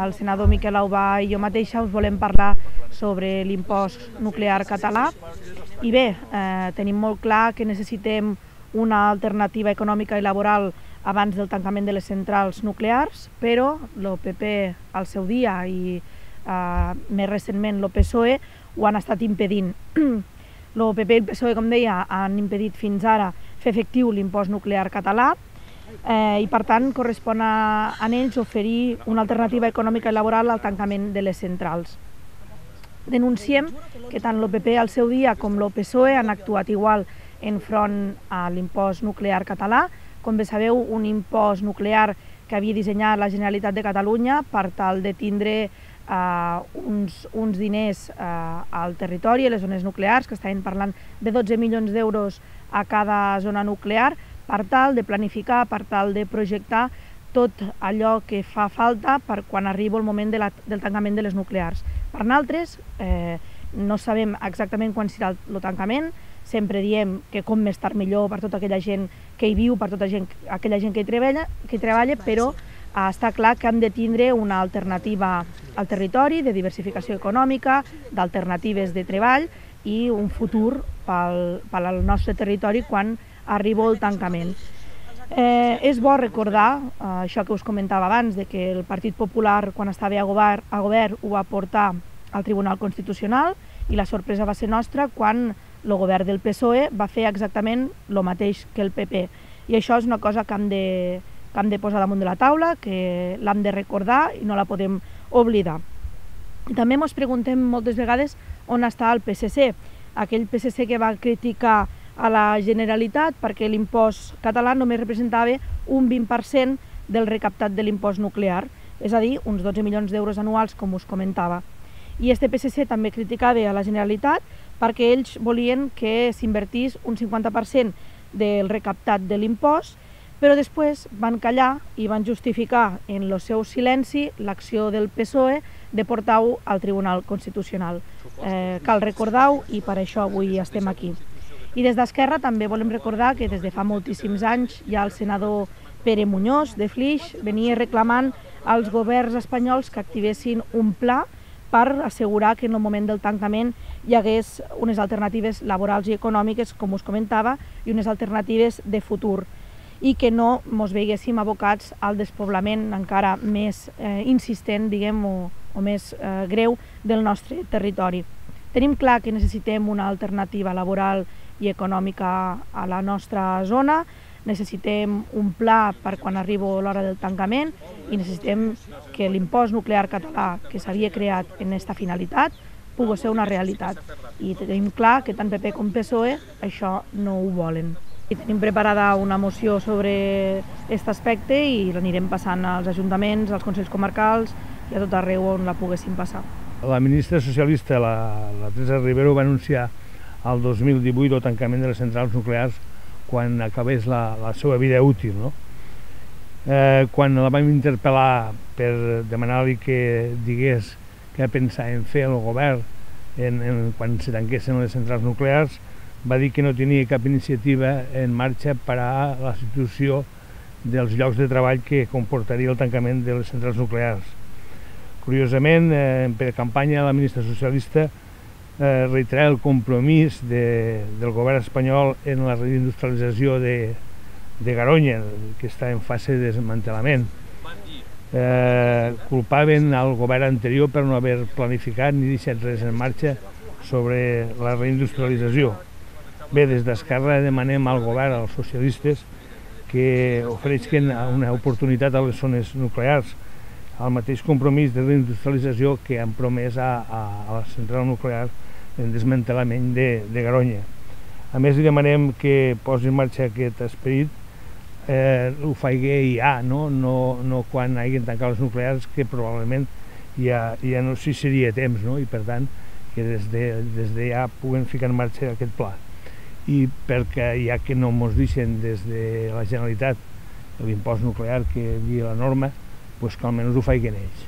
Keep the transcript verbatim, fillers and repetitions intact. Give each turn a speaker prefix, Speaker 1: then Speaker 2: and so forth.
Speaker 1: el senador Miquel Aubà i jo mateixa us volem parlar sobre l'impost nuclear català. I bé, eh, tenim molt clar que necessitem una alternativa econòmica i laboral abans del tancament de les centrals nuclears, però el P P al seu dia i eh, més recentment el P S O E ho han estat impedint. El P P i el P S O E, com deia, han impedit fins ara fer efectiu l'impost nuclear català eh, i per tant correspon a, a ells oferir una alternativa econòmica i laboral al tancament de les centrals. Denunciem que tant el P P al seu dia com el P S O E han actuat igual enfront a l'impost nuclear català. Com bé sabeu, un impost nuclear que havia dissenyat la Generalitat de Catalunya per tal de tindre eh, uns, uns diners eh, al territori, a les zones nuclears, que estaven parlant de dotze milions d'euros a cada zona nuclear, per tal de planificar, per tal de projectar tot allò que fa falta per quan arriba el moment de la, del tancament de les nuclears. Per nosaltres, eh, no sabem exactament quan serà el, el tancament, sempre diem que com més tard millor per tota aquella gent que hi viu, per tota gent, aquella gent que hi treballa, que hi treballa, però eh, està clar que hem de tindre una alternativa al territori, de diversificació econòmica, d'alternatives de treball i un futur pel, pel nostre territori quan arriba el tancament. Eh, és bo recordar eh, això que us comentava abans, de que el Partit Popular, quan estava a govern, a govern ho va portar al Tribunal Constitucional i la sorpresa va ser nostra quan el govern del P S O E va fer exactament el mateix que el P P. I això és una cosa que hem de, que hem de posar damunt de la taula, que l'hem de recordar i no la podem oblidar. I també ens preguntem moltes vegades on està el P S C, aquell P S C que va criticar a la Generalitat perquè l'impost català només representava un vint per cent del recaptat de l'impost nuclear, és a dir, uns dotze milions d'euros anuals, com us comentava. I este P S C també criticava a la Generalitat perquè ells volien que s'invertís un cinquanta per cent del recaptat de l'impost, però després van callar i van justificar en el seu silenci l'acció del P S O E de portar-ho al Tribunal Constitucional. Eh, cal recordar-ho i per això avui estem aquí. I des d'Esquerra també volem recordar que des de fa moltíssims anys ja el senador Pere Muñoz de Flix venia reclamant als governs espanyols que activessin un pla per assegurar que en el moment del tancament hi hagués unes alternatives laborals i econòmiques, com us comentava, i unes alternatives de futur, i que no ens veiguéssim abocats al despoblament encara més eh, insistent, diguem, o, o més eh, greu del nostre territori. Tenim clar que necessitem una alternativa laboral i econòmica a la nostra zona, necessitem un pla per quan arriba l'hora del tancament i necessitem que l'impost nuclear català que s'havia creat en aquesta finalitat pugui ser una realitat. I tenim clar que tant P P com P S O E això no ho volen. I tenim preparada una moció sobre aquest aspecte i l'anirem passant als ajuntaments, als consells comarcals i a tot arreu on la poguéssim passar.
Speaker 2: La ministra socialista, la, la Teresa Rivera, va anunciar el dos mil divuit el tancament de les centrals nuclears quan acabés la, la seva vida útil. No? Eh, quan la vam interpel·lar per demanar-li que digués què pensava en fer el govern en, en, quan se tanquessin les centrals nuclears, va dir que no tenia cap iniciativa en marxa per a la situació dels llocs de treball que comportaria el tancament de les centrals nuclears. Curiosament, eh, per campanya la ministra socialista Eh, reiterar el compromís de, del govern espanyol en la reindustrialització de, de Garoña, que està en fase de desmantelament. Eh, culpaven al govern anterior per no haver planificat ni deixat res en marxa sobre la reindustrialització. Bé, des d'Esquerra demanem al govern, als socialistes, que ofereixin una oportunitat a les zones nuclears, el mateix compromís de reindustrialització que han promès a, a, a la central nuclear en desmantelament de, de Garoña. A més, li demanem que posi en marxa aquest esperit, eh, ho faci ja, no? No, no quan hagin tancat les nuclears, que probablement ja, ja no sé si seria temps, no? I per tant, que des de, des de ja puguen ficar en marxa aquest pla. I perquè ja que no ens deixen des de la Generalitat l'impost nuclear que havia la norma, pues que almenys ho facin ells.